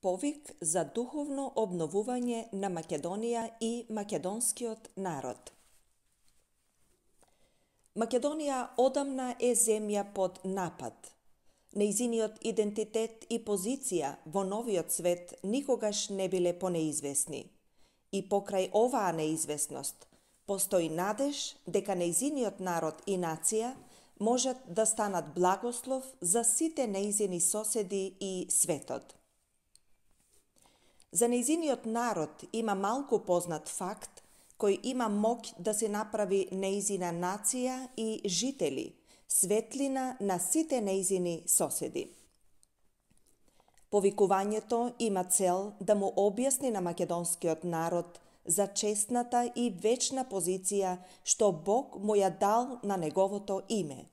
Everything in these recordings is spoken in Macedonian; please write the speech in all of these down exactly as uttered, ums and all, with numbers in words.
Повик за духовно обновување на Македонија и македонскиот народ. Македонија одамна е земја под напад. Нејзиниот идентитет и позиција во новиот свет никогаш не биле понеизвестни. И покрај оваа неизвестност, постои надеж дека нејзиниот народ и нација можат да станат благослов за сите нејзини соседи и светот. За нејзиниот народ има малку познат факт кој има моќ да се направи нејзина нација и жители, светлина на сите нејзини соседи. Повикувањето има цел да му објасни на македонскиот народ за честната и вечна позиција што Бог му ја дал на неговото име.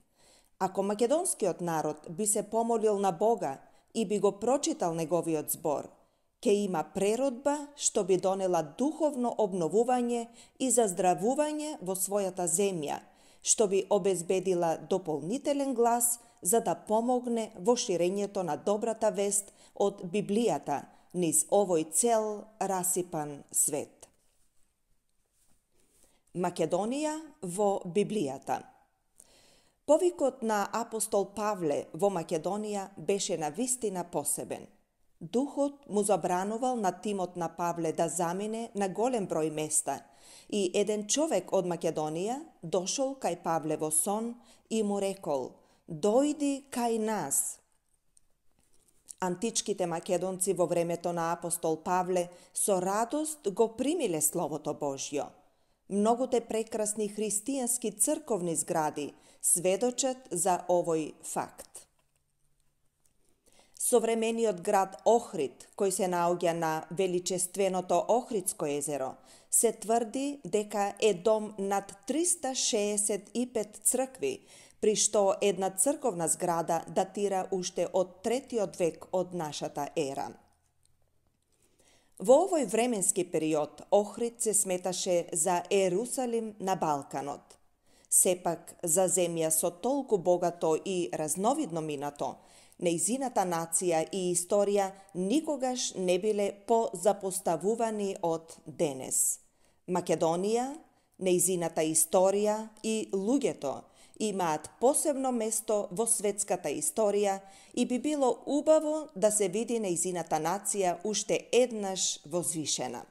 Ако македонскиот народ би се помолил на Бога и би го прочитал неговиот збор, ќе има преродба што би донела духовно обновување и заздравување во својата земја, што би обезбедила дополнителен глас за да помогне во ширењето на добрата вест од Библијата низ овој цел расипан свет. Македонија во Библијата. Повикот на апостол Павле во Македонија беше навистина посебен. Духот му забранувал на тимот на Павле да замине на голем број места и еден човек од Македонија дошол кај Павле во сон и му рекол: "Дојди кај нас." Античките македонци во времето на апостол Павле со радост го примиле Словото Божјо. Многуте прекрасни христијански црковни згради сведочат за овој факт. Современиот град Охрид, кој се наоѓа на величественото Охридско езеро, се тврди дека е дом над триста шеесет и пет цркви, при што една црковна зграда датира уште од третиот век од нашата ера. Во овој временски период Охрид се сметаше за Ерусалим на Балканот. Сепак, за земја со толку богато и разновидно минато, нејзината нација и историја никогаш не биле позапоставувани од денес. Македонија, нејзината историја и луѓето имаат посебно место во светската историја и би било убаво да се види нејзината нација уште еднаш возвишена.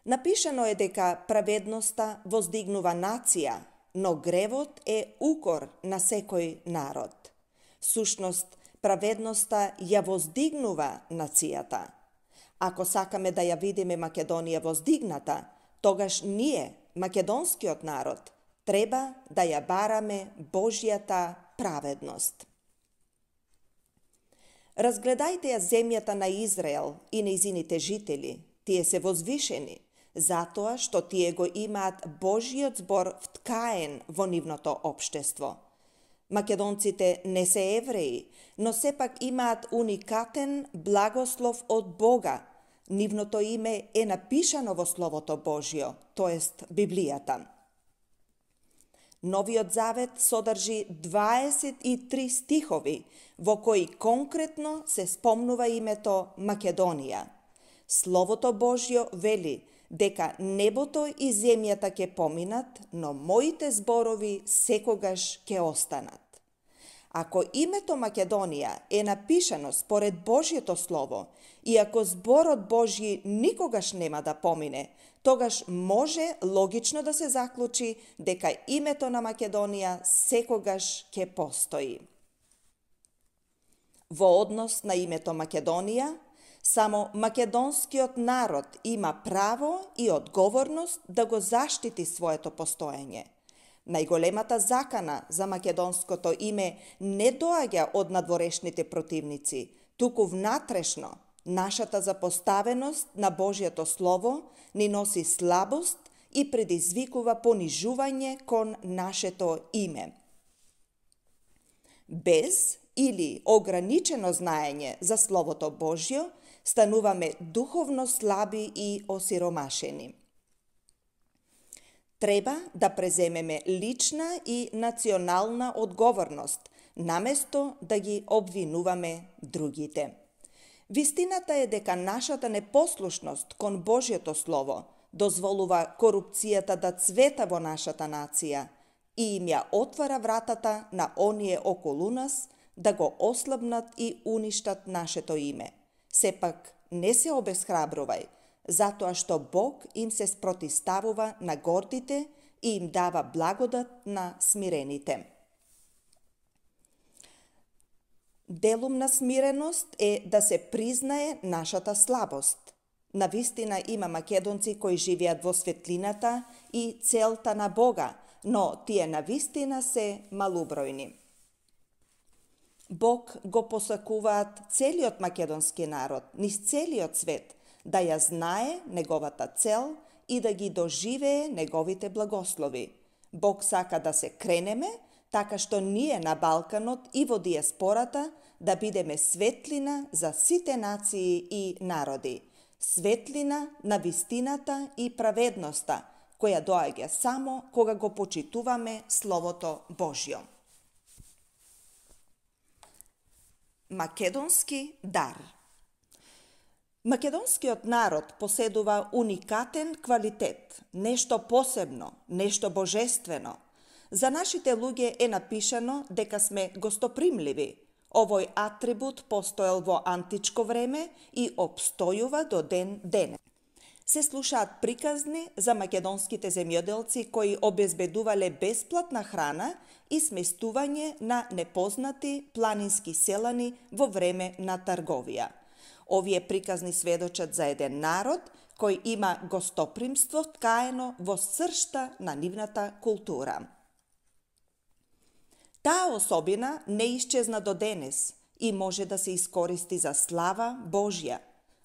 Напишано е дека праведноста воздигнува нација, но гревот е укор на секој народ. Всушност, праведноста ја воздигнува нацијата. Ако сакаме да ја видиме Македонија воздигната, тогаш ние, македонскиот народ, треба да ја бараме Божјата праведност. Разгледајте ја земјата на Израел и нејзините жители. Тие се возвишени, затоа што тие го имаат Божјиот збор вткаен во нивното општество. Македонците не се евреи, но сепак имаат уникатен благослов од Бога. Нивното име е напишано во Словото Божјо, тоест Библијата. Новиот Завет содржи дваесет и три стихови, во кои конкретно се спомнува името Македонија. Словото Божјо вели дека небото и земјата ќе поминат, но моите зборови секогаш ќе останат. Ако името Македонија е напишано според Божјето Слово и ако зборот Божји никогаш нема да помине, тогаш може логично да се заклучи дека името на Македонија секогаш ќе постои. Во однос на името Македонија, само македонскиот народ има право и одговорност да го заштити своето постоење. Најголемата закана за македонското име не доаѓа од надворешните противници, туку внатрешно. Нашата запоставеност на Божјето Слово ни носи слабост и предизвикува понижување кон нашето име. Без или ограничено знаење за Словото Божјо, стануваме духовно слаби и осиромашени. Треба да преземеме лична и национална одговорност, наместо да ги обвинуваме другите. Вистината е дека нашата непослушност кон Божјето Слово дозволува корупцијата да цвета во нашата нација и им ја отвара вратата на оние околу нас да го ослабнат и уништат нашето име. Сепак, не се обесхрабрувај, затоа што Бог им се спротиставува на гордите и им дава благодат на смирените. Делум на смиреност е да се признае нашата слабост. Навистина има македонци кои живеат во светлината и целта на Бога, но тие навистина се малубројни. Бог го посакуваат целиот македонски народ, низ целиот свет, да ја знае неговата цел и да ги доживее неговите благослови. Бог сака да се кренеме, така што ние на Балканот и во диаспората да бидеме светлина за сите нации и народи. Светлина на вистината и праведноста, која доаѓа само кога го почитуваме Словото Божјо. Македонски дар. Македонскиот народ поседува уникатен квалитет, нешто посебно, нешто божествено. За нашите луѓе е напишано дека сме гостопримливи. Овој атрибут постоел во античко време и обстојува до ден денес. Се слушаат приказни за македонските земјоделци кои обезбедувале бесплатна храна и сместување на непознати планински селани во време на трговија. Овие приказни сведочат за еден народ кој има гостопримство ткаено во сршта на нивната култура. Таа особина не исчезна до денес и може да се искористи за слава Божја.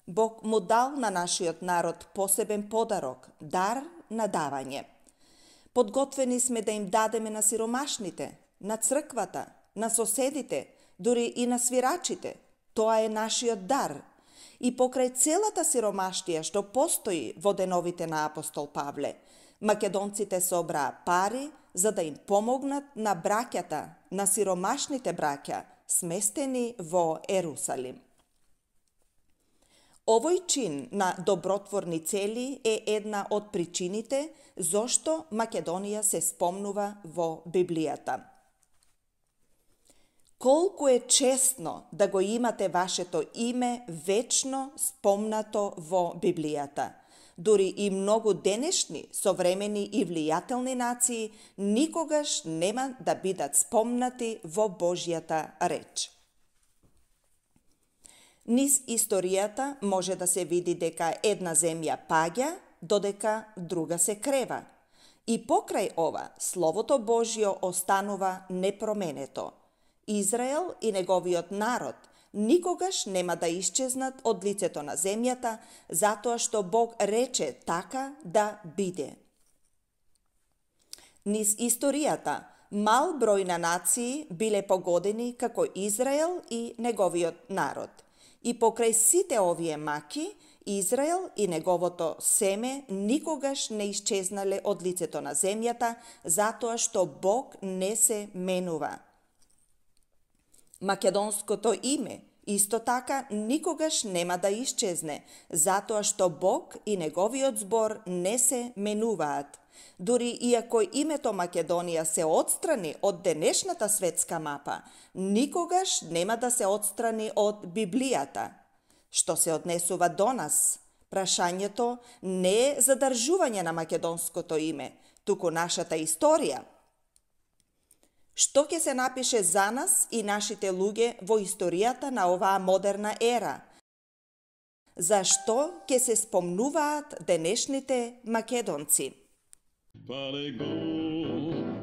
Бог му дал на нашиот народ посебен подарок, дар на давање. Подготвени сме да им дадеме на сиромашните, на црквата, на соседите, дури и на свирачите. Тоа е нашиот дар. И покрај целата сиромаштија што постои во деновите на апостол Павле, македонците собраа пари за да им помогнат на браќата, на сиромашните браќа, сместени во Ерусалим. Овој чин на добротворни цели е една од причините зошто Македонија се спомнува во Библијата. Колку е честно да го имате вашето име вечно спомнато во Библијата. Дури и многу денешни, современи и влијателни нации никогаш нема да бидат спомнати во Божјата реч. Низ историјата може да се види дека една земја паѓа, додека друга се крева. И покрај ова, Словото Божјо останува непроменето. Израел и неговиот народ никогаш нема да исчезнат од лицето на земјата, затоа што Бог рече така да биде. Низ историјата, мал број на нации биле погодени како Израел и неговиот народ. И покрај сите овие маки, Израел и неговото семе никогаш не исчезнале од лицето на земјата, затоа што Бог не се менува. Македонското име исто така никогаш нема да исчезне, затоа што Бог и неговиот збор не се менуваат. Дури иако името Македонија се отстрани од денешната светска мапа, никогаш нема да се отстрани од Библијата. Што се однесува до нас, прашањето не е задржување на македонското име, туку нашата историја. Што ќе се напише за нас и нашите луѓе во историјата на оваа модерна ера? Зашто ќе се спомнуваат денешните македонци?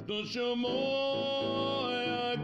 Došao moja